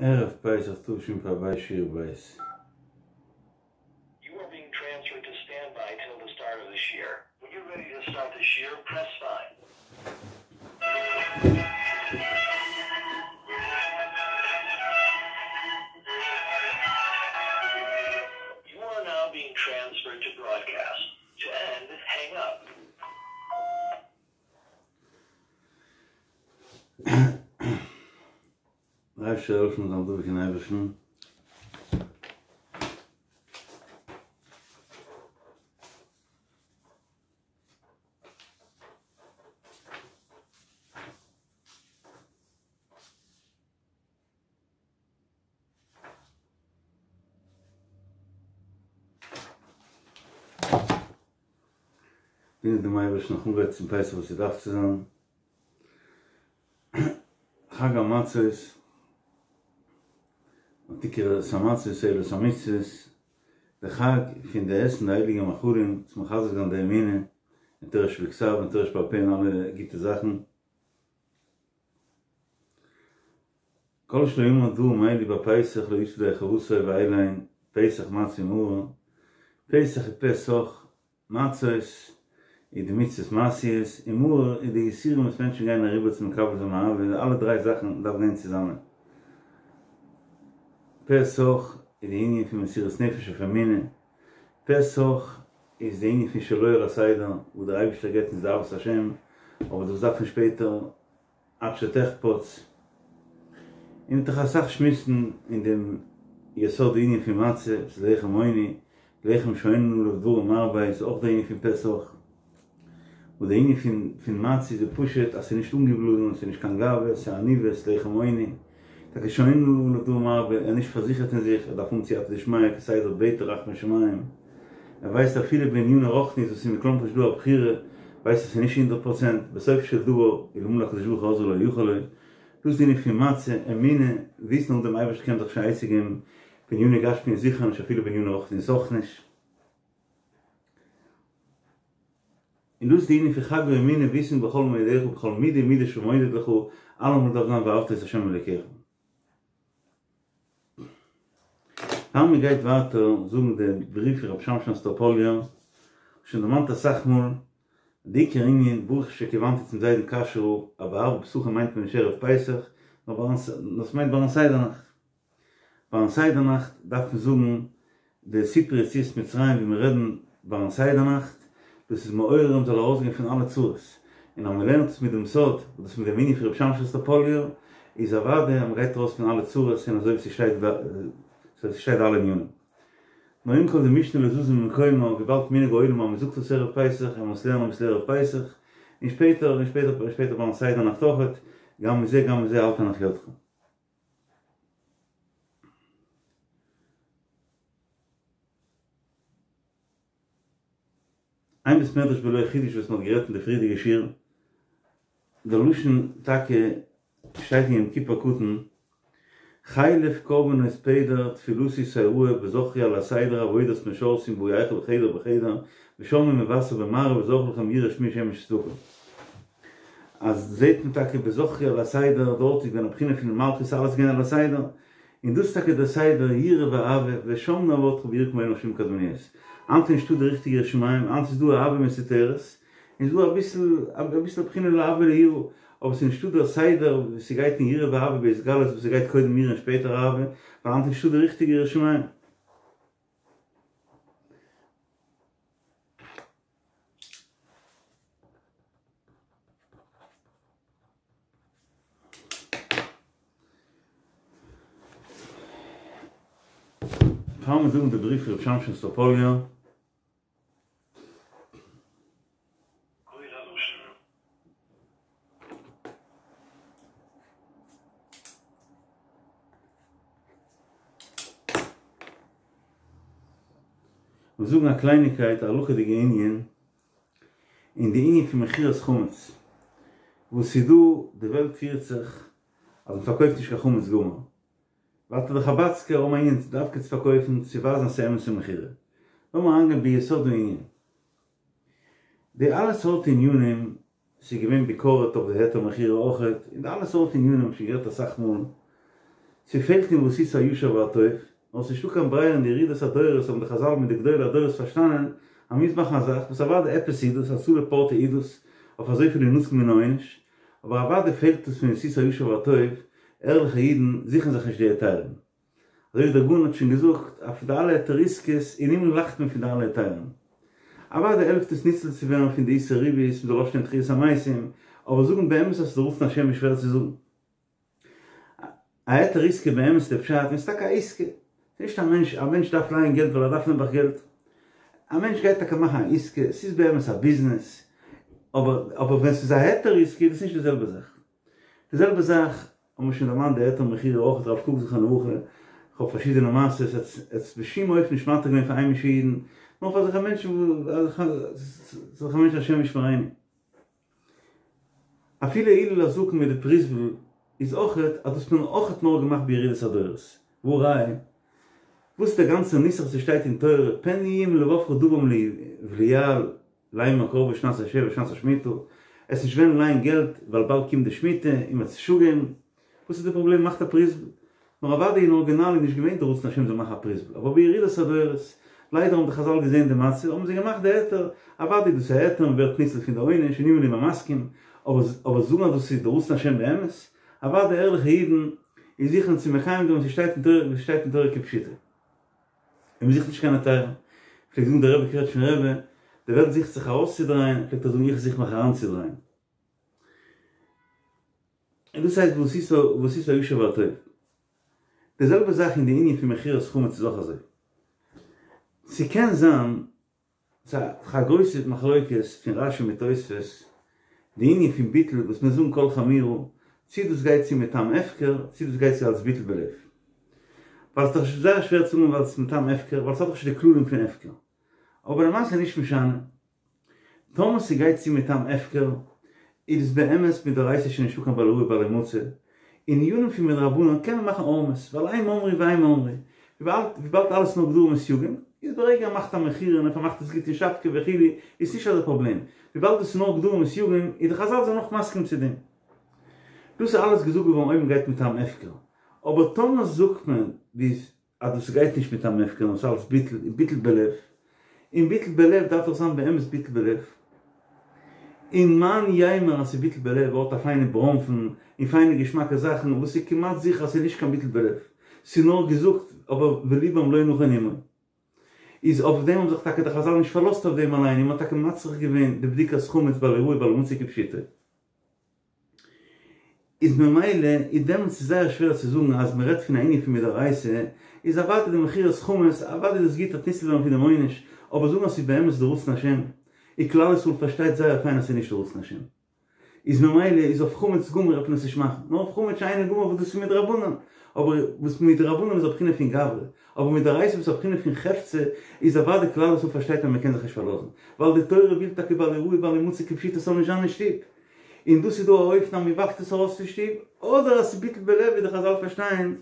ערב פסח תשפ"ב שיעור ב'. You are being transferred to standby till the start of the shiur. When you're ready to start the shiur, press five. You are now being transferred to broadcast. To end, hang up. דער אייבערשטער זאל העלפן זיין דבוק אין אייבערשטן. דינען דעם אייבערשטן נאך אנגרייטן צום פסח וואס ס'דארף צו זיין. חג המצות, ותקרא את המצות האלה את המצוות, די חג פון די עסן די הייליגע מאכלים צו מחזק זיין די אמונה אין תורה שבכתב און תורה שבעל פה און אלע גוטע זאכן. כל שלא אמר דברים אלו בפסח לא יצא ידי חובתו ואלו הן פסח מצה ומרור, פסח איז פה סח, מצות איז די מצוות מעשיות, און מרור איז די יסורים וואס מענטשן גייען אריבער צו מקבל זיין אהבה, די אלע דריי זאכן דארף גיין צוזאמען. פה סח איז די ענין פון מסירות נפש אויף אמונה, פה סח איז די ענין פון שלא על הסדר, וואס דער אייבערשטער געבט אונז די אהבת השם, אבער דאס דארף מען שפעטער עד שתחפץ, און מ'וועט דאך אסאך שמועסן אין דעם יסוד די ענין פון מצה, וואס איז לחם עוני, לחם שאין עליו דברים הרבה איז אויך די ענין פון פה סח, וואס די ענין פון פון מצה איז די פשוט אז ס'איז נישט אנגעבלאזן, ס'איז נישט קיין גאווה, ס'איז עניוות, לחם עוני, טאקע שאין עליו דברים הרבה, ער איז נישט פארזיכערט אין זיך, ער דארף האבן סייעתא דשמיא כסדר בעט ער רחמי שמים. ער ווייסט אפילו בעניני רוחניות וואס איז מכלומרשט דא א בחירה, ווייסט ער ס'איז נישט הונדרעט פראצענט, בסופו של דבר אלמלא הקדוש ברוך הוא עוזרו לא יכול לו, דאס איז די ענין פון מצה, אמונה, וויסן אן דעם אייבערשטן קען מען זיך נישט קיין עצה געבן, בעניני גשמיות זיכער נישט אפילו בעניני רוחניות אויך נישט. און דאס איז די ענין פון חג האמונה, וויסן בכל מאודך ובכל מידה ומידה שמודד לך, אלעמאל דארף זיין ואהבת את ה' אלוקיך. פאר מען גייט ווייטער זאגן די בריוו פון רבי שמשון אסטראפאליער, שוין דערמאנט אסאך מאל, די עיקר ענין, ברוך שכיוונתי צום זיידן קאשויער רב, אז בערבי פסחים מיינט מען נישט ערב פסח, נאר דאס מיינט ביים סדר נאכט. ביים סדר נאכט דארף מען זאגן די סיפור יציאת מצרים ווי מיר רעדן ביים סדר נאכט, דאס איז מעורר מ'זאל ארויסגיין פון אלע צרות, און אז מען לערנט עס מיט דעם סוד, וואס דאס מיט דעם ענין פון רבי שמשון אסטראפאליער, איז אוודאי אז מען גייט ארויס פון אלע צרות און אזוי ווי ס'שטייט ס'שטייט די אלע ענינים. נאר עם כל זה משנה לא זזה ממקומה, וויבאלד מנהג העולם אז מען זאגט עס ערב פסח, און מען מוז לערנען אביסל ערב פסח, און שפעטער און שפעטער און שפעטער ביים סדר נאכט אויכעט, גם מזה גם מזה אל תנח ידך. איין בית מדרש בלא חידוש וואס מ'האט גערעדט אין די פריערדיגע שיעור, די לשון טאקע שטייט אין יום כיפור קטן, חלף קרבנות פדר תפילתי תראה בזכרי על הסדר עבודת משרתים באי כל חדר בחדר ושמעו מבשר במעריב וזכרו לכם יראה שמי שמש צדקה. אז זעהט מען טאקע בזכרי על הסדר דארט איז געווען א בחינה פון מלכות אלעס איז געווען על הסדר, און דאס איז טאקע דער סדר יראה ואהבה ושם נעבדך ביראה כמו אנשים קדמוניות. היינט איז נישטא די ריכטיגע יראת שמים, היינט איז דא אהבה מסותרת, און ס'איז דא אביסל אביסל בחינה לאהבה ליראה, אבער ס'איז נישטא דער סדר ווי ס'גייט אין יראה ואהבה בהתגלות וואס ס'גייט קודם יראה און שפעטער אהבה, ווייל היינט איז נישטא די ריכטיגע יראת שמים. פאר מיר זאגן די בריוו פון רבי שמשון אסטראפאליער. מיר זאגן א קלייניקייט א הלכה'דיגע ענין אין די ענין פון מכירת חמץ וואס איז דא די וועלט פירט זיך אז מען פארקויפט נישט קיין חמץ גמור ווייטער די חבדסקער האבן א ענין דווקא צו פארקויפן צו ווייזן אז ס'איז אמת'ע מכירה לאמיר אריינגיין ביסוד הענין די אלע סארט ענינים ס'איז געווען ביקורת אויף די היתר מכירה אויכעט, און די אלע סארט ענינים האב איך שוין גערעדט אסאך מאל. ס'פעלט אין ועשית הישר והטוב, נאר ס'נישטא קיין ברירה אין די ירידת הדורות האבן די חזל מיט די גדולי הדורות פארשטאנען אז מ'מוז מאכן א זאך וואס אוודאי עפעס איז דאס הצלה פורתא איז דאס אויף אזויפיל ינצל מן העונש, אבער אוודאי פעלט עס פון ועשית הישר והטוב, ערליכע אידן זוכן זיך נישט די היתרים. אזוי ווי דער גאון האט שוין געזאגט אויף די אלע היתר עסקאות, אין הימל לאכט מען פון די אלע היתרים. אוודאי העלפט עס ניצול צו ווערן פון די איסור ריבית, מ'זאל אויפשטיין תחיית המתים, אבער זאגן באמת אז ס'איז די רצון השם איז שווער צו זאגן. א היתר עסקה באמת איז די פשט ווען ס'איז טאקע א עסקה, ס'איז נישט א מענטש, א מענטש דארף לייען געלט ווייל ער דארף נעבעך געלט, א מענטש גייט טאקע מאכן א עסקה, ס'איז באמת א ביזנעס, אבער אבער ווען ס'איז א היתר עסקה איז דאס נישט די זעלבע זאך. די זעלבע זאך האבן מיר שוין דערמאנט די היתר מכירה אויך הרב קוק זכרונו לברכה, כ'האב פארשידענע מעשות, ער האט עס בשום אופן נישט מתיר געווען פאר היימישע אידן, נאר פאר אזעלכע מענטשן אזעלכע מענטשן השם ישמרינו. אפילו הלל הזקן מיט די פרוזבול איז אויכעט אז דאס האט מען אויכעט נאר געמאכט בירידת הדורות, והא ראיה וואס איז דער גאנצער נוסח וואס שטייט אין תורה פן יהיה עם לבבך דבר בליעל לאמר קרבה שנת השבע שנת השמיטה, עסט נישט וועלן לייען געלט ווייל באלד קומט די שמיטה און מ'וועט זיך שעמען, וואס איז די פראבלעם מאכט א פרוזבול? נאר אוודאי אין ארגינאל איז נישט געווען די רצון השם זאל מאכן א פרוזבול, אבער בירידת הדורות, ליידער האבן די חזל געזען די מצב האבן זיי געמאכט די היתר, אוודאי דאס איז א היתר מען ווערט ניצול פון די עונש און אם איז מען מסכים, אבער זאגן אז דאס איז די רצון השם באמת? אוודאי ערליכע אידן איז זוכן צו מקיים זיין וואס עס שטייט אין תורה וואס שטייט אין תורה כפשוטו. און מען זוכט נישט קיין היתרים. פלעגט זאגן דער רבי קרעטשניפער רבי, די וועלט זוכט זיך ארויסצודרייען, פלעגט ער זאגן איך זוך מיך אריינצודרייען. און דאס הייסט ועשית ועשית הישר והטוב. די זעלבע זאך אין די ענין פון מכירת חמץ איז אויך אזוי. ס'קען זיין, ס'איז א גרויסע מחלוקת פון רשי מיט תוספות, די ענין פון ביטול וואס מיר זאגן כל חמירא, צי דאס גייט צו מטעם הפקר, צי דאס גייט צו אלס ביטול בלב. ווייל ס'איז דאך זייער שווער צו זאגן ווייל ס'איז מטעם הפקר, ווייל ס'האט דאך נישט די כללים פון הפקר. אבער למעשה נישט משנה. טאמער ס'גייט צו מטעם הפקר, איז עס באמת מדאורייתא שוין נישטא קיין בל יראה ובל ימצא, אין ענינים פון מדרבנן קען מען מאכן הערמות, ווייל אין ממרי ואין ממרי, וויבאלד אלעס נאר גדרים וסייגים, איז ברגע ער מאכט א מכירה און ער פארמאכט עס גוט אין שבקע וכו' איז נישט אזא פראבלעם, וויבאלד עס איז נאר גדרים וסייגים איז די חזל זענען נאך מסכים צו דעם. דאס איז אלעס געזאגט געווארן אויב מ'גייט מטעם הפקר, אבער טאמער זאגט מען ווי אז דאס גייט נישט מטעם הפקר נאר ס'אלץ ביטול און ביטול בלב, און ביטול בלב דארף דאך זיין באמת ביטול בלב, און מאן יימר אז ס'איז ביטול בלב האט א פיינע בראנפן און פיינע געשמאקע זאכן וואס איז כמעט זיכער אז ס'איז נישט קיין ביטול בלב, ס'איז נאר געזאגט אבער ולבם לא נכון עמו. איז אויף דעם האבן זיך טאקע די חזל נישט פארלאזט אויף דעם אליין און מ'האט טאקע מצריך געווען די בדיקת חמץ בל יראה ובל ימצא כפשוטו. איז ממילא איז דעמאלטס איז זייער שווער צו זאגן אז מען רעדט פון א ענין פון מדאורייתא, איז אוודאי די מכירת חמץ, אוודאי איז עס גוט אויף ניצול ווערן פון דעם עונש, אבער זאגן אז ס'איז באמת די רצון השם, און כלל ישראל פארשטייט זייער פיין אז ס'איז נישט די רצון השם. איז ממילא איז אויף חמץ גמור דארף מען עס נישט מאכן, נאר אויף חמץ שאינו גמור וואס דאס איז מדרבנן, אבער וואס מדרבנן איז א בחינה פון גברא, אבער מדאורייתא וואס איז א בחינה פון חפצא, איז אוודאי כלל ישראל פארשטייט אז מען קען זיך נישט פארלאזן, ווייל די תורה וויל טאקע בל יראה ובל ימצא כפשוטו ס'זאל נישט זיין אין שטוב. און דאס איז דא א אופן אז מען ווארפט עס ארויס פון שטוב, אדער אז ס'איז ביטול בלב ווי די חזל פארשטייען,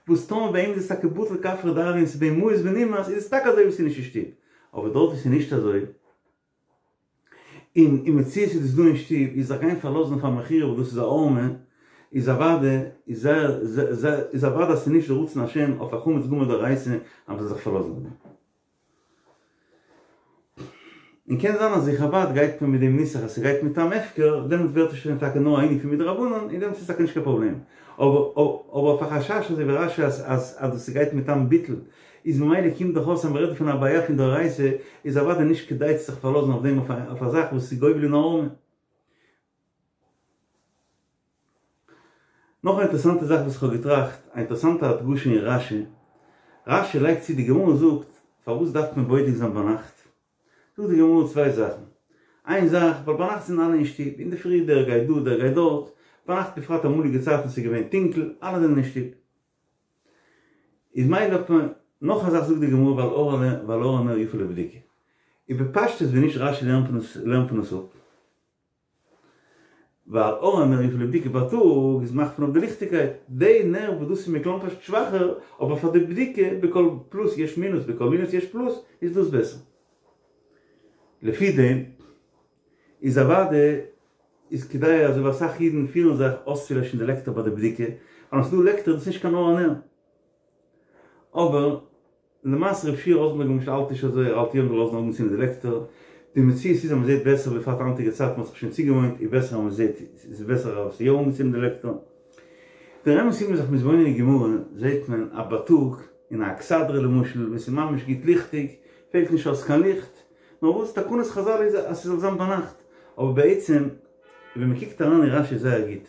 וואס טאמער ביי אים איז עס טאקע בטל כעפרא דארעא און ס'איז ביי אים מאוס ונמאס איז עס טאקע אזוי ווי ס'איז נישט אין שטוב, אבער דארט ווי ס'איז נישט אזוי, און אין מציאות איז דאס דא אין שטוב, איז זיך גיין פארלאזן אויף א מכירה וואס דאס איז א הערמה, איז אוודאי איז זייער איז אוודאי אז ס'איז נישט די רצון השם אויף א חמץ גמור דאורייתא אז מ'זאל זיך פארלאזן אויף דעם. און קען זיין אז אין חבד גייט מען מיט דעם נוסח אז ס'גייט מטעם הפקר, דעמאלטס ווערט עס שוין טאקע נאר א ענין פון מדרבנן און דעמאלטס איז טאקע נישט קיין פראבלעם. אבער אבער אויף א חשש אזוי ווי רשי אז אז אז דאס ס'גייט מטעם ביטול איז ממילא קומט דאך אויס אז מ'רעדט דא פון א בעיה פון דאורייתא איז אוודאי נישט כדאי צו זיך פארלאזן אויף דעם אויף א זאך וואס איז גובל אין הערמה. נאך א אינטערעסאנטע זאך וואס איך האב געטראכט, א אינטערעסאנטע הדגשה אין רשי, רשי לייגט צו, די גמרא זאגט פארוואס דארף מען בודק זיין ביינאכט? זאגט די גמרא צוויי זאכן, איין זאך ווייל ביינאכט זענען אלע אין שטוב, אינדערפרי דער גייט דא דער גייט דארט, ביינאכט בפרט אמאליגע צייטן ס'איז געווען טונקל, אלע זענען אין שטוב, איז מילא האט מען, נאך א זאך זאגט די גמרא ווייל אור ווייל אור הנר יפה לבדיקה, איז בפשטות ווי נישט רשי לערנט לערנט מען עס אפ. ווייל אור הנר יפה לבדיקה בייטאג איז מאכט מען אויף די ליכטיגקייט, די נר וואס דאס איז מכלומרשט שוואכער, אבער פאר די בדיקה בכל פלוס יש מינוס בכל מינוס יש פלוס איז דאס בעסער. לפי דעם איז אוודאי. איז כדאי אזוי ווי אסאך אידן פירן זיך אויסצולעשן די לעקטער ביי די בדיקה, ווייל ווען ס'איז דא לעקטער איז דאס נישט קיין אור הנר. אבער למעשה רב שיע ראזנבערג למשל האלט נישט אזוי, ער האלט יא מ'זאל לאזן אנגעצינדן די לעקטער, די מציאות איז אז מ'זעט בעסער בפרט היינטיגע צייטן מ'האט זיך שוין צוגעוואוינט איז בעסער אז מ'זעט ס'איז בעסער אז ס'איז יא אנגעצינדן די לעקטער. דער אמת איז ווען מ'איז זיך מתבונן אין גמרא זעט מען אז בייטאג אין א אכסדרה למשל ווען ס'איז ממש גוט ליכטיג פעלט נישט אויס קיין ליכט, נאר וואס תקנות חזל איז אז ס'זאל זיין ביינאכט, אבער בעצם ווען מ'קוקט אריין אין רשי זייער גוט,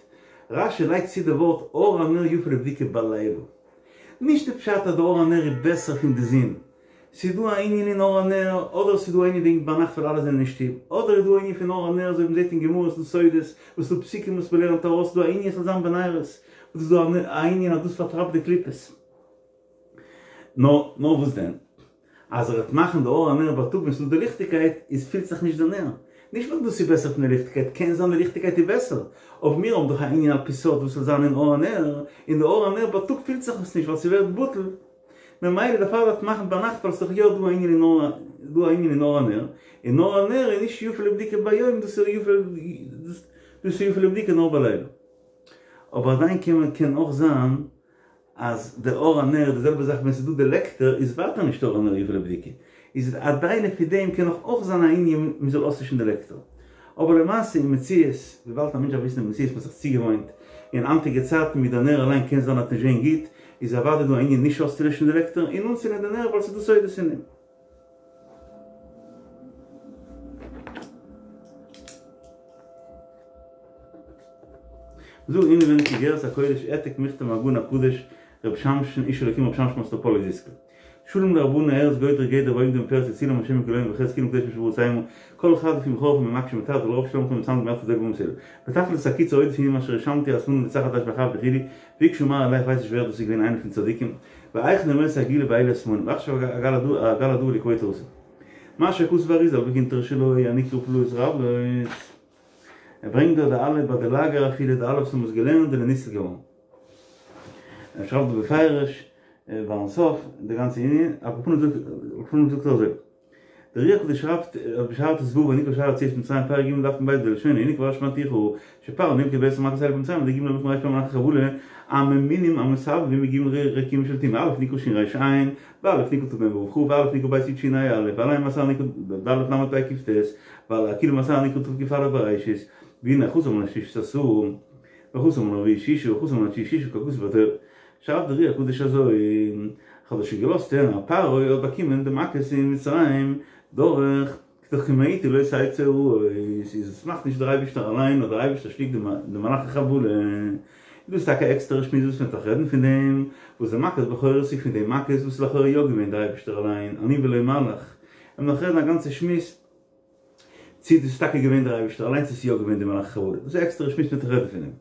רשי לייגט צו די ווארט אור הנר יפה לבדיקה בלילה, נישט די פשט אז די אור הנר איז בעסער פון די זון, ס'איז דא א ענין אין אור הנר, אדער ס'איז דא א ענין וועגן ביינאכט ווייל אלע זענען אין שטוב, אדער איז דא א ענין פון אור הנר אזוי ווי מ'זעט אין גמרא ס'דא סודות וואס ס'דא פסוקים וואס מ'לערנט ארויס ס'דא א ענין ס'זאל זיין בנרות, וואס איז דא א ענין אז דאס פארטרייבט די קליפות. נאר נאר וואס דען? אז ער וועט מאכן די אור הנר בייטאג ווען ס'איז דא די ליכטיגקייט איז פילט זיך נישט די נר. נישט ווייל דאס איז בעסער פון די ליכטיגקייט, קען זיין די ליכטיגקייט איז בעסער, אבער מיר האבן דאך א ענין על פי סוד וואס זאל זיין אין אור הנר, און די אור הנר בייטאג פילט זיך עס נישט ווייל ס'ווערט בטל, ממילא דערפאר דארף מען מאכן ביינאכט ווייל ס'איז דאך יא דא א ענין אין אור דא א ענין אין אור הנר, און אור הנר איז נישט יפה לבדיקה ביום דאס איז יפה דאס איז יפה לבדיקה נאר בלילה. אבער עדיין קען מען קען אויך זיין אז די אור הנר די זעלבע זאך ווען ס'איז דא די לעקטער איז ווייטער נישט אור הנר יפה לבדיקה, איז עדיין לפי דעם קען נאך אויך זיין א ענין מ'זאל אויסלעשן די לעקטער. אבער למעשה אין מציאות, וויבאלד א מענטש דארף וויסן די מציאות מ'האט זיך צוגעוואוינט אין היינטיגע צייטן מיט די נר אליין קען זיין אז נישט זעהן גוט, איז אוודאי דא א ענין נישט אויסצולעשן די לעקטער און אנצינדן די נר ווייל ס'איז דא סודות אין דעם. זאג אינעווייניג איגרת הקודש העתק מכתב מהגאון הקדוש ר' שמשון איש אלוקים ר' שמשון מאסטראפאלי זצוק"ל שלום לרבנן ארז גודרי גדר ועומדים בפרץ יצילם השם מכל אויב וחץ כולם קדושים שבארץ המה כל אחד לפי בכור וממקש ומתת ולרוב שלום כל מצמד מעט ודואג ומסעל בתכלית הקיצור עוד לפי מה שרשמתי הזמנה לצחת אש באחב וכו' ביקשו מר עליך ווייס נישט ווער דאס איז געווען איינער פון צדיקים והיכן נרמסה הגאולה באלה השמאלים ועכשיו הגל הדור לקבוע תורתו מה שכתוב האריז"ל בקונטרס שלו הנקרא פלאות רבות ער ברענגט דא די אלע ביי די לאגער אפילו די אלע וואס האבן עס געלערנט זענען ניצל געווארן. ער שרייבט דא בפירוש ביים סוף די גאנצע ענין, על כל פנים זאגט על כל פנים זאגט ער אזוי, דער אר"י הקדוש שרייבט בשער ט"ו הנקרא שער יציאת מצרים פרק ג' דף מ"ב בלשונו הנה כבר שמעתיך שפרעה נמכר בעשר מכות האלה במצרים על ידי ג' מלאכים ר"פ מלאכי חבלה הממונים המסבבים בג' רקיעים של טומאה א' נקרא ש' ר' ע' וא' נקרא תמ ו' כ' וא' נקרא ב' י' ש' ה' א' ועל ע' עשר נקרא ד' ל' פ' ק' ט' ועל הכלים עשר נקרא תק"א בראשית והנה חסר מן השלישית עשור וחסר מן הרביעית שישה וחסר מן התשיעית שישה ככתוב בתורה שרייבט דער אר"י הקדוש אזוי כ'האב דאס שוין געלאזט הערן אז פרעה האט באקומען די מכות אין מצרים דורך דאך כי מאתי לא תצא הרעות, איז עס מאכט נישט דער אייבישטער אליין נאר דער אייבישטער שיקט די מלאכי חבלה, איז דאס טאקע א עקסטערע שמועס וואס מען דארף רעדן פון דעם וואס די מכות בכורות איז פון די מכות וואס איז לכאורה יא געווען דער אייבישטער אליין אני ולא מלאך, מען דארף רעדן א גאנצע שמועס צי דאס איז טאקע געווען דער אייבישטער אליין צו עס איז יא געווען די מלאכי חבלה, דאס איז א עקסטערע שמועס מען דארף רעדן פון דעם.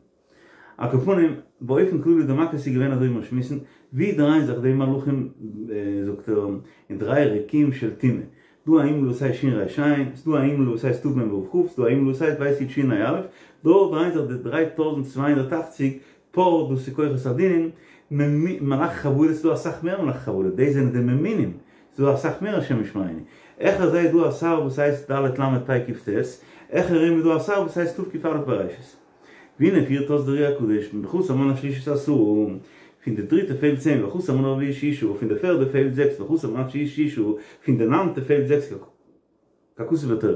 על כל פנים, באופן כללי די מכות איז געווען אזוי ווי מיר שמועסן, ווי דרייען זיך די מלאכים זאגט ער, אין דריי רקיעים של טומאה, דא א הימל וואס הייסט שין ריש עין, ס'דא א הימל וואס הייסט תיו מם וואו כף, ס'דא א הימל וואס הייסט בית יוד שין ה' אלף, דארט דרייען זיך די 3280 פאר דאס איז כוחות הדינים, מלאכי חבלה, ס'דא אסאך מער מלאכי חבלה, דאס זענען די ממונים, ס'דא אסאך מער השם ישמרינו. העכער זיי איז דא א שר וואס הייסט ד' למד פ' ק' ט', העכער אים איז דא א שר וואס הייסט תיו קוף אלף בראשית. והנה פירט אויס דער אר"י הקדוש וחסר מן השלישית עשרה, פון די דריטע פעלט צען וחסר מן הרביעית שישה, פון די פערדע פעלט זעקס וחסר מן התשיעית שישה, פון די ניינטע פעלט זעקס ככתוב בתורה.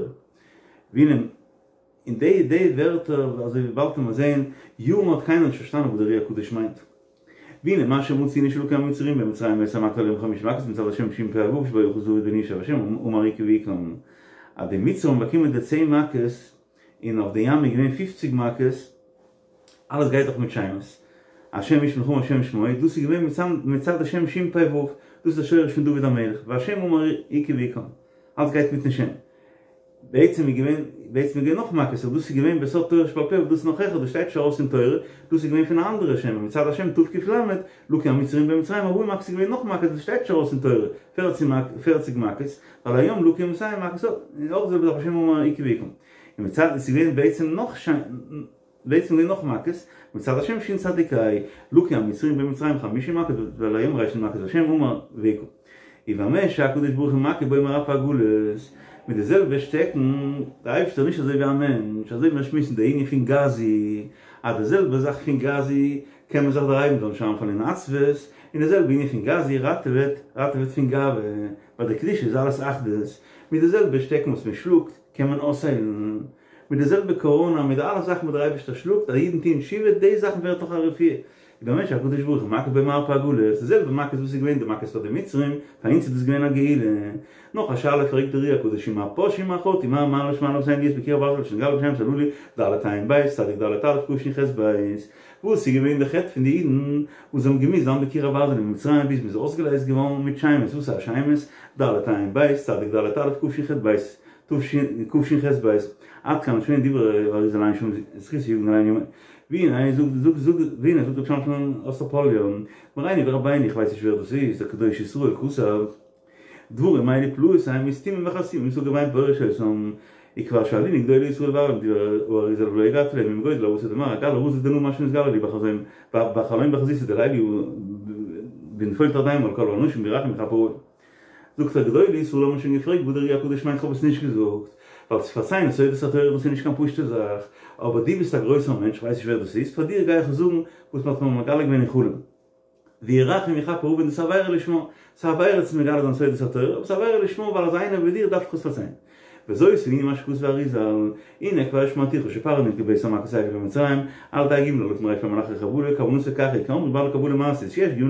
והנה אין די די ווערטער אזוי ווי באלד וועט מען זעהן, יארן האט קיינער נישט פארשטאנען וואס דער אר"י הקדוש מיינט. והנה מה שמצינו שלקו המצרים במצרים בעשר מכות ועל הים חמישים מכות מצד השם שין פא וו שבו אחז דוד בן ישי והשם אמר הכה והכם אז די מצרים האבן באקומען די צען מכות און אויף די ים איז געווען פופציג מכות, אלעס גייט דאך מיט שמות, השם איש מלחמה השם שמו, דאס איז געווען מצד השם שין פא וו, דאס איז די שורש פון דוד המלך, והשם אמר הכה והכם, אלעס גייט מיטן שם. בעצם איז געווען, בעצם איז געווען נאך מכות, אבער דאס איז געווען בסוד תורה שבעל פה, דאס איז נאך העכער, דאס שטייט נישט ארויס אין תורה, דאס איז געווען פון א אנדערע שם, מצד השם תיו קוף למד, לקו המצרים במצרים ארבעים מכות איז געווען נאך מכות, דאס שטייט נישט ארויס אין תורה, פערציג מכות, ועל הים לקו מאתים מכות, און אויך זעלבע זאך והשם אמר הכה והכם. און מצד עס איז געווען בעצם נאך שיין בעצם געווען נאך מכות, מצד השם שין צדיק ה', לקו המצרים במצרים חמישים מכות ועל הים ריש מכות והשם אמר והכו. ובמה שהקדוש ברוך הוא מכה בו מרפא הגלות. מיט די זעלבע שטעקן, דער אייבערשטער איז נישט אזוי ווי א מענטש, אזוי ווי מיר שמועסן די ענין פון גזי, אז די זעלבע זאך פון גזי קען מען זיך דערהייבן זאל נישט אריינפאלן אין עצבות, און די זעלבע ענין פון גזי ראטעוועט, ראטעוועט פון גאווה, ביי די קדושה איז אלעס אחדות, מיט די זעלבע שטעקן וואס מען שלאגט קען מען אויסהיילן, מיט די זעלבע קאראנא, מיט די אלע זאכן וואס דער אייבערשטער שלאגט אז אידן טוען תשובה, די זאכן ווערט דאך א רפואה. ובמה שהקדוש ברוך הוא מכה במרפא הגלות, די זעלבע מכות וואס איז געווען די מכות פאר די מצרים, פאר אונז איז דאס געווען א גאולה. נאך א שאלה פרעגט דער אר"י הקדוש ומה פשעו ומה חטאו מה מעלה שמעלה אבותינו להיות בקיר הברזל שנגלה בשמות הללו ד' ע' ב' צדיק ד' א' ק' ש' ח' ב' וואס איז געווען די חטא פון די אידן וואס זיי האבן געמוזט זיין בקיר הברזל אין מצרים ביז מ'איז אויסגעלייזט געווארן מיט שמות וואס איז א שמות ד' ע' ב' צדיק ד' א' ק' ש ח' ב' תשח"ב, עד כאן לשון דברי האריז"ל עיין שם זכותו יגן עלינו אמן. והנה זאגט זאגט זאגט והנה זאגט רבי שמשון אוסטראפאליער, מורינו ורבינו איך ווייס נישט ווער דאס איז, דער קדוש ישראל כתב, דברים האלה פלאות הם וסתומים וחתומים וסגור ואין פורש אותם, וכבר שאלוני גדולי ישראל ואמרו דברי האריז"ל ולא הגדתי להם אם גודל העבותא דמר אגלי רזא דנא מה שנתגלה לי בחזון בחלום בחזיתא דליליא בנפול תרדימה על כל האנשים וירחם ויכפר עון. זאגט ער גדולי ישראל האבן שוין געפרעגט וואס דער אר"י הקדוש מיינט כ'האב עס נישט געזאגט ווייל צו פארציילן סודות התורה דאס איז נישט קיין פשוטע זאך אבער דו ביסט א גרויסער מענטש כ'ווייס נישט ווער דאס איז פאר דיר גיי איך עס זאגן וואס מ'האט מיר מגלה געווען אין חלום וירחם ויכפר עון דאס איז עבירה לשמה ס'איז עבירה צו מגלה זיין סודות התורה אבער ס'איז עבירה לשמה ווייל אזא איינער ווי דיר דארף איך עס פארציילן וזאת הוא ענין מה שכתב האריז"ל, הנה כבר שמעתיך שפרעה נלקה בעשר מכות האלה במצרים, על ידי ג' אלפים ר"פ מלאכי חבלה, כוונתו כך היא, כאמרו בעלי קבלה מעשית, שיש ג'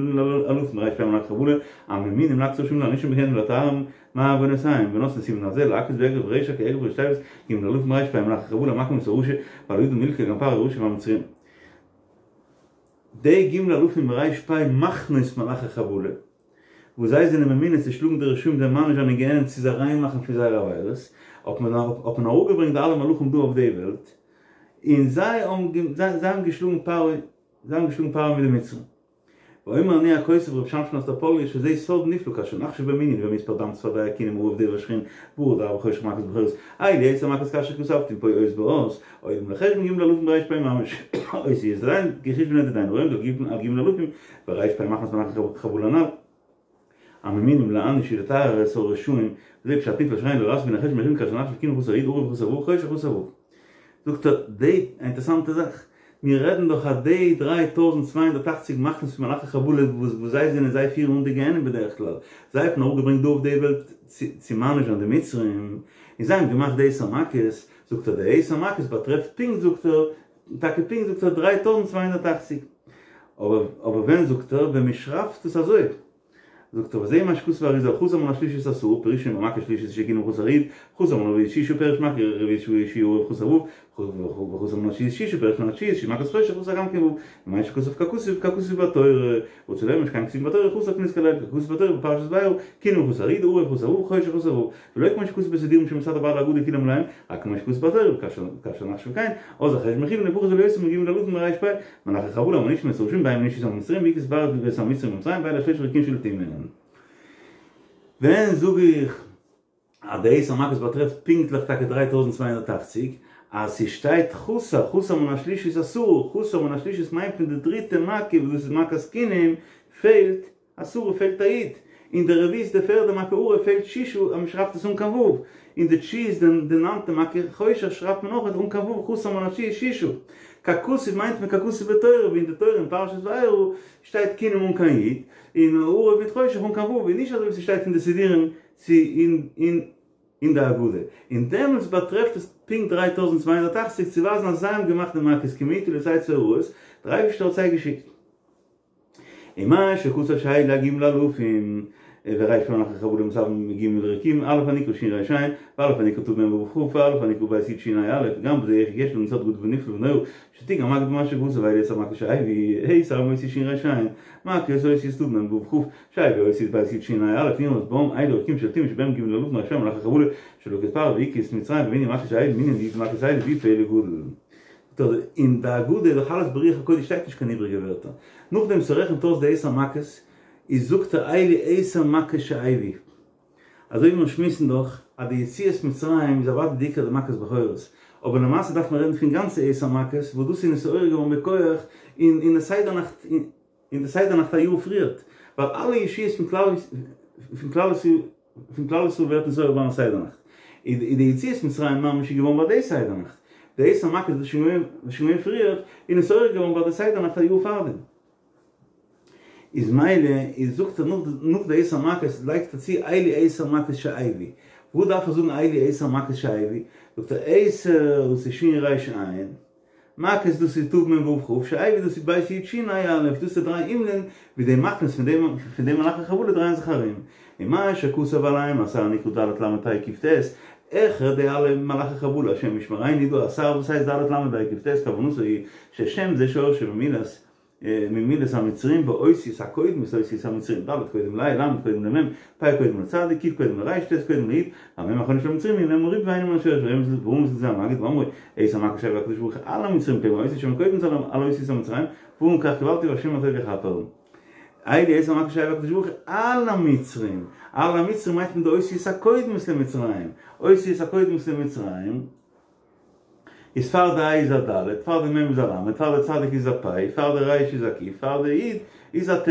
אלפים ר"פ מלאכי חבלה, הממונים להכות רשעים ולהענישם בגיהנם ולטהרם מעוונותיהם, ונותנו סימן הזה להכות באגרוף רשע כאגרוף ראשי תיבות ג' אלפים ר"פ מלאכי חבלה המכים את הרשע ועל ידם נלקה גם פרעה הרשע והמצרים. די ג' אלפים ר"פ מחנות מלאכי חבלה. וואס זיי זענען ממונה צו שלאגן די רשעים זיי מעניש זיין אין גיהנום צו זיי ריין מאכן פון זייערע עבירות, האט מען האט מען אראפגעברענגט די אלע מלאכים דא אויף די וועלט, און זיי האבן זיי האבן געשלאגן פרעה, זיי האבן געשלאגן פרעה מיט די מצרים. ואומר אני הכותב ר' שמשון אסטראפאלי שזה סוד נפלא כאשר נחשב במנין במספר דם צפרדע כינים ערוב דבר שחין ברד ארבע חושך מכות בכורות אלו עשר מכות כאשר כתבתי פה אות באות עולים לחשבון ג' אלפים ר"פ ממש אותיות דדיין כחושבנא דידן הרומז על ג' אלפים ור"פ מחנות מלאכי חבלה הנ"ל הממונים להעניש ולטהר את הרשעים וזה פשט נפלא שאין לו לעשות מן החשבון מרים כאשר נחשב כינים חסר י' ערוב חסר ו' חושך חסר ו'. זאגט ער די אינטערסאנטע זאך, מיר רעדן דאך אז די 3280 מחנות פון מלאכי חבלה וואס וואס זיי זענען זיי פירן אן די גיהנום בדרך כלל, זיי האט מען אראפגעברענגט דא אויף די וועלט צו מעניש זיין די מצרים, און זיי האבן געמאכט די עשר מכות, זאגט ער די עשר מכות באטרעפט פונקט זאגט ער טאקע פונקט זאגט ער 3280 אבער אבער ווען זאגט ער ווען מען שרייבט עס אזוי זאגט ער וזה מה שכתב האריז"ל חסר מן השלישית עשרה פירושו במכה שלישית שכינים חסר י' חסר מן הרביעית שישה פירש מכה רביעית שהוא ערוב חסר ו' וחסר מן התשיעית שישה פירש מן התשיעית שהיא מכת חושך חסר גם כן ו' ומה שכתב ככתוב ככתוב בתורה רוצה לומר שכן כתובים בתורה חסר כנזכר לעיל ככתוב בתורה בפרשת וירא כינים חסר י' ערוב חסר ו' חושך חסר ו' ולא כמו שכתוב בסידורים שמצד הבעל הגדה כולם מלאים, רק כמו שכתוב בתורה, וכאשר נחשב כן, אז החשבון מכוון לפחות ולא יותר מג' אלפים ר"פ, מלאכי חבלה המענישים את הרשעים בהם הענישו את המצרים והכה פרעה ואת המצרים במצרים ואלה שלשה רקיעים של טומאה. ווען זאג איך אז די עשר מכות באטרעפט פונקטליך טאקע 3280, אז ס'שטייט חסר, חסר מן השלישית עשרה, חסר מן השלישית מיינט פון די דריטע מכה וואס דאס איז מכת כינים, פעלט עשרה פעלט א י', אין די רביעית די פערדע מכה ערוב פעלט ששה אז מען שרייבט עס אן קיין ו', אין די תשיעית די ניינטע מכה חושך שרייבט מען אויך אן קיין ו' חסר מן התשיעית ששה. ככתוב מיינט מען ככתוב בתורה ווי אין די תורה אין פרשת וארא שטייט כינים אן קיין י', און ערוב מיט חושך אן קיין ו', און נישט אזוי ווי ס'שטייט אין די סידורים צו אין אין אין די הגדה, און דעמאלטס באטרעפט עס פונקט 3280 צו ווייזן אז זיי האבן געמאכט די מכות כי מאתו לא תצא הרעות, דער אייבערשטער האט זיי געשיקט. ומה שכתב שאלו הג' אלפים ור"פ מלאכי חבלה המתאבן מג' רקיעים א' הנקרא ש' ר' ע' וא' הנקרא ת' מ' ו' כ' וא' הנקרא ב' י' ש' ה' א' גם בזה יש לנו סוד גדול ונפלא ונורא שתיקן המגיד במה שכתב ואלו עשר מכות שהביא עשר אותיות ש' ר' ע' מכות אותיות ת' מ' ו' כ' שהביא אותיות ב' י' ש' ה' א' נרמז בם אלו רקיעים של טומאה שבהם ג' אלפים ר"פ מלאכי חבלה שלקו את פרעה והכו את מצרים במנין מכות שהביא מנין י' מכות אלו והוא פלא גדול. אין די הגדה איז דאך אלעס ברוח הקודש שטייט נישט קיין איבריגע ווערטער. נאכדעם ס'רעכנט אויס די עשר מכות, איז זאגט ער אלו עשר מכות שהביא. אזוי ווי מיר שמועסן דאך אז די יציאת מצרים איז אוודאי די עיקר די מכות בכורות, אבער למעשה דארף מען רעדן פון גאנצע עשר מכות וואס דאס איז נתעורר געווארן בכח אין אין די סדר נאכט אין די סדר נאכט א יאר פריערט, ווייל אלע ישועות פון כלל פון כלל פון כלל ישראל ווערט נתעורר ביים סדר נאכט. איז די יציאת מצרים ממש איז געווארן ביי די סדר נאכט, די עשר מכות איז שוין געווען פריער, און נתעורר געווארן ביי די סדר נאכט א יאר פארדעם. איז מילא איז זאגט ער נאך די עשר מכות לייגט ער צו אלו עשר מכות שהביא, וואס דארף ער זאגן אלו עשר מכות שהביא, זאגט ער עשר דאס איז שין ריש עין, מכות דאס איז תו מם וו כף, שהביא דאס איז בית יוד שין ה' אלף, דאס איז די דריי הימלען ווי די מחנות פון די פון די מלאכי חבלה דרייען זיך ארום, ומה שכתוב עליהם אתר נקרא ד' ל' פ' ק' ט', העכער די אלע מלאכי חבלה השם ישמרינו איז דא א שר וואס הייסט ד' ל' פ' ק' ט' כוונתו היא ששם זה שורשו ממילת ממילת המצרים באותיות הקודמות לאותיות המצרים, ד' קודם לה', ל' קודם למ', פ' קודם לצ', ק' קודם לר', ט' קודם לי', והמ' האחרונה של המצרים היא מ' הריבוי ואינה מן השורש, ורמז לזה המגיד באומרו, עשר מכות שהביא הקדוש ברוך הוא על המצרים כלומר אותיות שמקודמות על אותיות המצרים, ואמר כך קיבלתי והשם הטוב יכפר. אלו עשר מכות שהביא הקדוש ברוך הוא על המצרים, על המצרים מיינט מען די אותיות הקודמות למצרים, אותיות הקודמות למצרים, איז פאר די ה' איז א ד', פאר די מ' איז א ל', פאר די צדיק איז א פ', פאר די ר' איז א ק', פאר די י' איז א ט',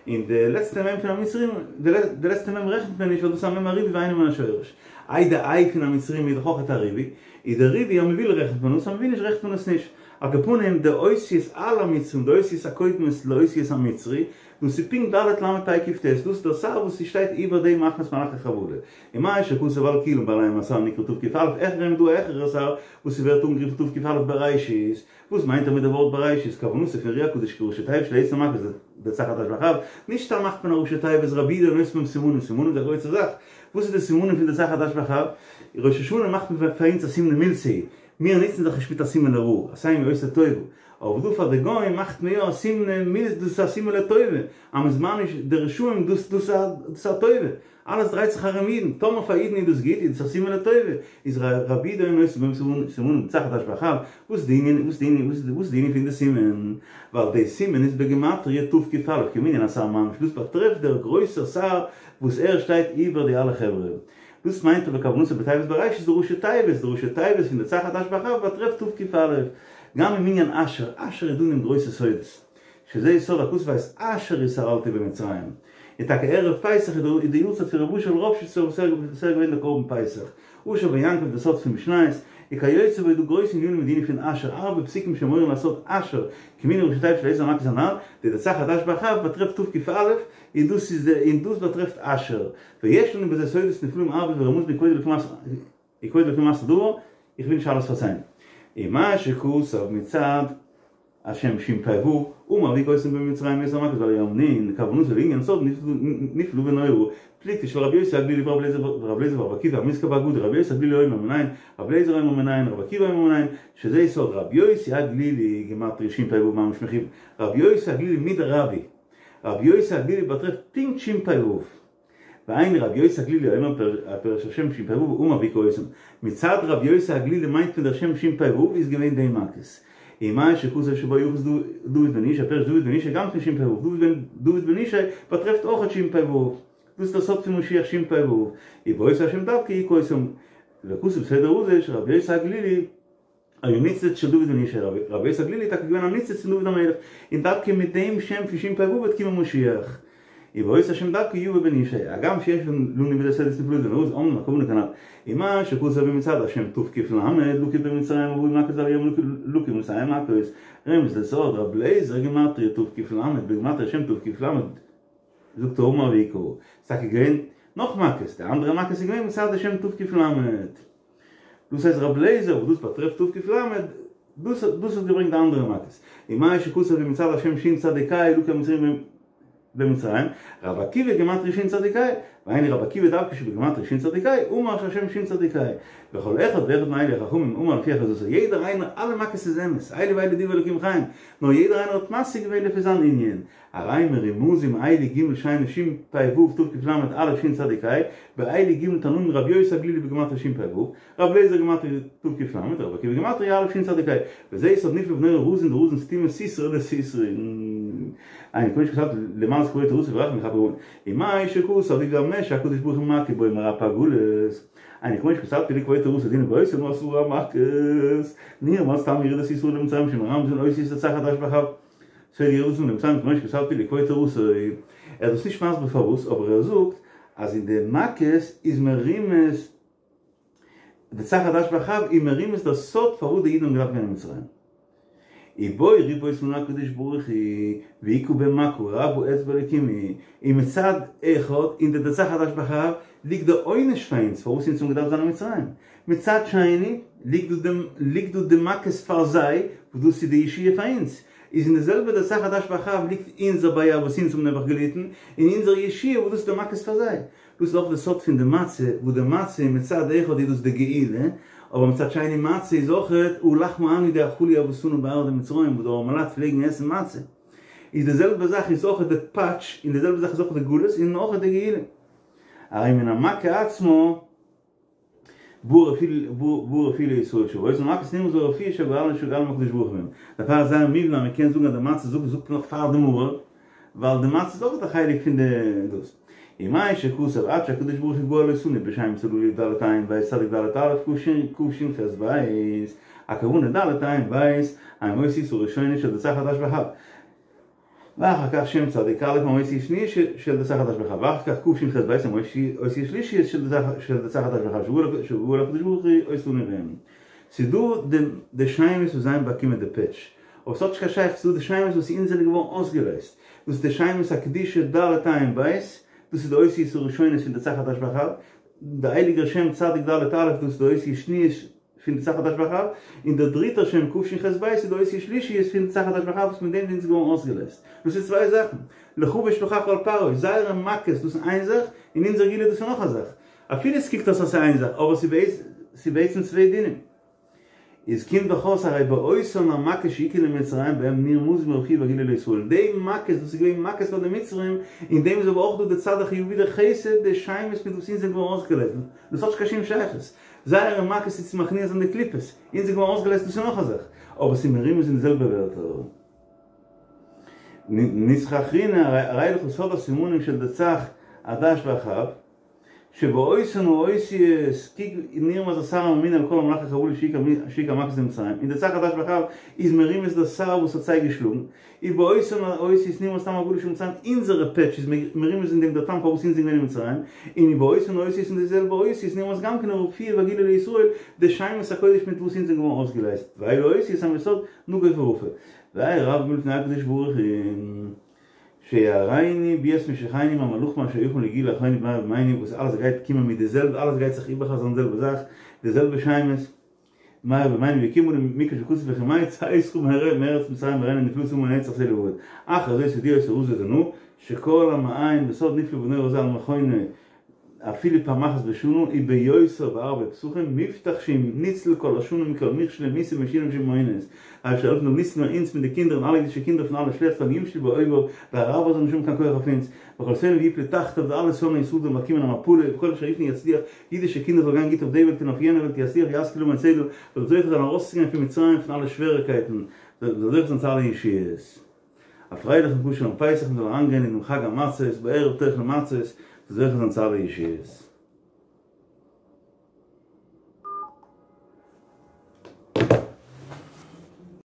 און די לעצטע מ' פון המצרים, די לעצטע מ' רעכנט מען נישט ווייל דאס איז א מ' הריבוי ואינו מן השורש. איי די ה' פון המצרים איז דאך אויך א ריבוי, איז די ריבוי אז מ'וויל רעכנט מען עס, אז מ'וויל נישט רעכנט מען עס נישט. על כל פנים די אותיות על המצרים, די אותיות הקודמות לאותיות המצרי, דאס איז פונקט ד' ל' פ' ק' ט', דאס איז דער שר וואס ס'שטייט איבער די מחנות מלאכי חבלה. ומה שכתוב על כולם ועליהם אתר נקרא תק"א, העכער אים איז דא א העכערע שר וואס ס'ווערט אנגערופן תק"א בראשית, וואס מיינט ער מיט די ווארט בראשית? כוונתו פון אר"י הקדוש כי ראשי תיבות של עשר מכות דצ"ך עד"ש באח"ב, נישט סתם מאכט מען א ראשי תיבות רבי יהודה נותן בהם סימנים, סימנים איז א גרויסע זאך, וואס איז די סימנים פון דצ"ך עד"ש באח"ב? ראש השנה מאכט מען פאר אונז א סימן למילתא, מיר נוצן זיך נישט מיט א סימן לרעה, עשני עושה טובה, אבער דא פאר די גוים מאכט מען יא א סימן מילתא, דאס איז א סימן לטובה, אז מ'איז מעניש די רשעים דאס דאס איז א טובה, אלעס דרייט זיך ארום אידן, טאמער פאר אידן איז דאס גוט איז דאס א סימן לטובה, איז רבי יהודה נותן בהם סימנים דצ"ך עד"ש באח"ב, וואס איז די ענין, וואס איז די ענין, וואס איז די ענין פון די סימן? ווייל די סימן איז בגימטריא תק"א, כמנין השר ממש, דאס באטרעפט דער גרויסער שר וואס ער שטייט איבער די אלע חברה. דאס מיינט אבער כוונתו בתיבת בראשית די ראשי תיבות, די ראשי תיבות פון דצ"ך עד"ש באח"ב באטרעפט תק"א. גם אין מנין אשר, אשר איז דא אין אים גרויסע סודות. שזה יסוד הכתוב את אשר התעללתי במצרים. און טאקע ערב פסח איז די יארצייט פון רבי אשר ראפשיצער וואס ער איז געווען דער קרבן פסח. אשר בן יעקב די סוד פון משניות, וכיוצא בו איז דא גרויסע ענינים אין די ענין פון אשר, הרבה פסוקים שמורים על סוד אשר, כמנין ראשי תיבות של עשר מכות הנ"ל, די דצ"ך עד"ש באח"ב באטרעפט תק"א, און דאס איז די און דאס באטרעפט אשר, ויש לנו בזה סודות נפלאים הרבה ורמוז מכבוד אלוקים מעשה דבר, איך וויל נישט אלעס פארציילן. ומה שכתב מצד השם שפ"ו, אמר והכה אותם במצרים בעשר מכות ועל הים נ', כוונתו לעניין סוד נפלא ונורא, פלוגתא של רבי יוסי הגלילי ורבי אליעזר ורבי עקיבא המוזכר באגדה, רבי יוסי הגלילי אומר מנין, רבי אליעזר אומר מנין, רבי עקיבא אומר מנין, שזה יסוד רבי יוסי הגלילי גימטריא שפ"ו ממש מכיוון רבי יוסי הגלילי מדרבי רבי יוסי הגלילי באטרעפט פונקט שפ"ו. והיינו רבי יוסי הגלילי אומר פירש השם שפ"ו אמר והכה אותם. מצד רבי יוסי הגלילי מיינט מען דער שם שפ"ו איז געווען די מכות. ומה שכתוב שבו יחוס דוד בן ישי פירש דוד בן ישי גם כן שפ"ו דוד בן ישי באטרעפט אויכעט שפ"ו. דאס איז דער סוד פון משיח שפ"ו. ובאותו השם דווקא הכה אותם. וכתוב סדר הזה שרבי יוסי הגלילי היה ניצוץ של דוד בן ישי, רבי יוסי הגלילי איז טאקע געווען א ניצוץ פון דוד המלך, און דווקא מיט דעם שם פון שפ"ו וועט קומען משיח. ובאותו השם דווקא יבא בן ישי, הגם שיש לנו בזה סודות נפלאות ונוראות אמנם הכוונה כנ"ל. ומה שכתוב מצד השם תק"ל לקה במצרים ארבע מכות ועל הים לקה מאתים מכות, רמז לסוד רבי אליעזר גימטריא תק"ל בגימטריא שם תק"ל זאגט ער אמר והכה, ס'איז טאקע געווען נאך מכות, די אנדערע מכות איז געווען מצד השם תק"ל. דאס הייסט רבי אליעזר וואס דאס באטרעפט תק"ל, דאס דאס האט געברענגט די אנדערע מכות. ומה שכתוב מצד השם שין צדיק ה' לקה המצרים במצרים, רבי עקיבא גימטריא שין צדיק ה', והיינו רבי עקיבא דווקא שבגימטריא שין צדיק ה', אמר שהשם שין צדיק ה'. וכל אחד ואחד מאלה החכמים אמר לפי אחוזתו, יעדער איינער, אלע מכות איז אמת, אלו ואלו דברי אלוקים חיים, נאר יעדער איינער האט משיג געווען לפי זיין ענין. הרי מרומזים אלו ג' שהיינו שפ"ו תק"ל א' שין צדיק ה', ואלו ג' תנאים רבי יוסי הגלילי בגימטריא שפ"ו, רבי אליעזר גימטריא תק"ל, רבי עקיבא גימטריא א' שין צדיק ה', וזה יסוד נפלא ונורא רזין דרזין סתימא סתרא לסתרין. היינו כמו שכתבת למען כבוד תורתו ורחמים יכפר עוון. ומה שכתוב ובמה שהקדוש ברוך הוא מכה בו מרפא הגלות. היינו כמו שכתבתי לכבוד תורתו דהיינו באותן עשר מכות. נרמז טעם ירידת ישראל למצרים שמרמזין אותיות דצ"ך עד"ש באח"ב. סוד ירידת למצרים כמו שכתבתי לכבוד תורתו. ער איז דאס נישט מסביר פארוואס אבער ער זאגט אז אין די מכות איז מרומז. דצ"ך עד"ש באח"ב איז מרומז דער סוד פארוואס די אידן האבן געדארפט גיין אין מצרים. ובו ריפא אותנו הקדוש ברוך הוא והכה בהם מכה רבה אצבע אלקים היא, און מצד אחד אין די דצ"ך עד"ש באח"ב ליגט די עונש פאר אונז פארוואס אונז האבן געדארפט זיין אין מצרים, מצד שני ליגט דא די ליגט דא די מכות פאר זיי וואס דאס איז די ישועה פאר אונז, איז אין די זעלבע דצ"ך עד"ש באח"ב ליגט אונזער בעיה וואס אונז האבן נעבעך געליטן, און אונזער ישועה וואס דאס איז די מכות פאר זיי. דאס איז אויך די סוד פון די מצה, וואס די מצה מצד אחד איז דאס די גאולה, אבער מצד שני מצה איז אויך הא לחמא עניא די אכלו אבהתנא בארעא דמצרים וואס די ארעמעלייט פלעגן עסן מצה. איז די זעלבע זאך איז אויך די פאטש, און די זעלבע זאך איז אויך די גלות און אויך די גאולה. הרי מן המכה עצמה בא רפואה לישראל שבאותן המכות נרמז הרפואה שגאלנו שגאלנו הקדוש ברוך הוא בהם. דערפאר איז זייער מובן אז מען קען זאגן אז די מצה זאגט זאגט נאך פאר די מרור, ווייל די מצה איז אויך א חלק פון די דאס. ומה שכתוב עד שהקדוש ברוך הוא גאל אותנו בשמות הללו ד' עין ב' צדיק ד' א' ק' ש' ח' ב', הכוונה ד' עין ב', הם אותיות הראשונות של דצ"ך עד"ש באח"ב. ואחר כך שם צדיק א' הם אותיות שניות של דצ"ך עד"ש באח"ב, ואחר כך ק' ש' ח' ב' הם אותיות שלישיות של דצ"ך עד"ש באח"ב, שגאל הקדוש ברוך הוא אותנו בהם. ס'איז דא די שמות וואס זיי האבן באקומען די פעטש, אבער ס'האט נישט קיין שייכות, ס'איז דא די שמות וואס אונז זענען געווארן אויסגעלייזט, דאס איז די שמות הקדושה ד' עין ב', דאס איז די אותיות הראשונות פון דצ"ך עד"ש באח"ב, די הייליגער שם צדיק ד' א' דאס איז די אותיות שניות פון דצ"ך עד"ש באח"ב, און דער דריטער שם ק' ש' ח' ב' איז די אותיות שלישיות פון דצ"ך עד"ש באח"ב וואס מיט דעם זענען אונז געווארן אויסגעלייזט. דאס איז צוויי זאכן. לך ואשלחך אל פרעה, זייערע מכות דאס איז איין זאך, און אונזער גאולה דאס איז נאך א זאך. אפילו עס קוקט אויס אז ס'איז איין זאך, אבער ס'איז בעצם צוויי דינים. איז קומט דאך אויס הרי באותן המכות שהכו למצרים בהם נרמזים הרפואה והגאולה לישראל, די מכות וואס איז געווען מכות פאר די מצרים, אין דעם איז אבער אויך דא די צד החיובי די חסד, די שמות מיט וואס אונז זענען געווארן אויסגעלייזט, דאס האט נישט קיין שום שייכות, זייערע מכות איז צו מכניע זיין די קליפות, אונז זענען געווארן אויסגעלייזט דאס איז נאך א זאך, אבער ס'איז מרומז אין די זעלבע ווערטער. נוסחא אחרינא הרי לך סוד הסימנים של דצ"ך עד"ש באח"ב. שבאותן האותיות קוק נרמז השר הממונה על כל מלאכי חבלה שהכו המכות למצרים, אין דצ"ך עד"ש באח"ב איז מרומז דער שר וואס האט זיי געשלאגן, ובאותן האותיות נרמז טעם הגלות של מצרים, אונזערע פעטש איז מרומז אין דעם דער טעם פארוואס אונז זענען געווען אין מצרים, און ובאותן האותיות אין די זעלבע אותיות נרמז גם כן הרפואה והגאולה לישראל, די שמות הקודש מיט וואס אונז זענען געווארן אויסגעלייזט, ואלו האותיות הם יסוד נגוף ורפה. והרי רבים לפני הקדוש ברוך הוא. שיראנו ביאת משיחנו עם המלאכים אשר יכין לגאולה אחרונה במהרה בימינו וואס אלעס גייט קומען מיט די זעלבע אלעס גייט זיך איבערחזרן די זעלבע זאך די זעלבע שמות במהרה בימינו ויקוים עלינו מקרא שכתוב וכימי צאתך מארץ מצרים אראנו נפלאות יאמר נצח סלה ועד אחר זאת הודיע אותו רזא דנא שכל המעיין בסוד נפלא ונורא הזה על מכונו אפילו פעם אחת בשנה וביותר בערבי פסחים מובטח שהוא ניצל כל השנה מכל מכשול ומיתה משונות ומעונות אייבערשטער העלפן זאל ניצלן אונז מיט די קינדער און אלע אידישע קינדער פון אלע שלעכטס ואל ימשלו באויביו די אראבער זאלן נישט האבן קיין כח אויף אונז וכל שונאיו יפלו תחתיו די אלע שונאי ישראל זאלן באקומען א מפלה וכל אשר יפנה יצליח אידישע קינדער זאל גיין גוט אויף די וועלט און אויף יענע וועלט יצליח וישכיל ללמוד סדר זאל זוכה זיין ארויסצוגיין פון מצרים פון אלע שוועריקייטן זאל זוכה זיין צו אלע ישועות. א פרייליכן כשר'ן פסח מ'זאל אריינגיין אינעם חג המצות בערב תאכלו מצות זוכה זיין צו אלע ישועות.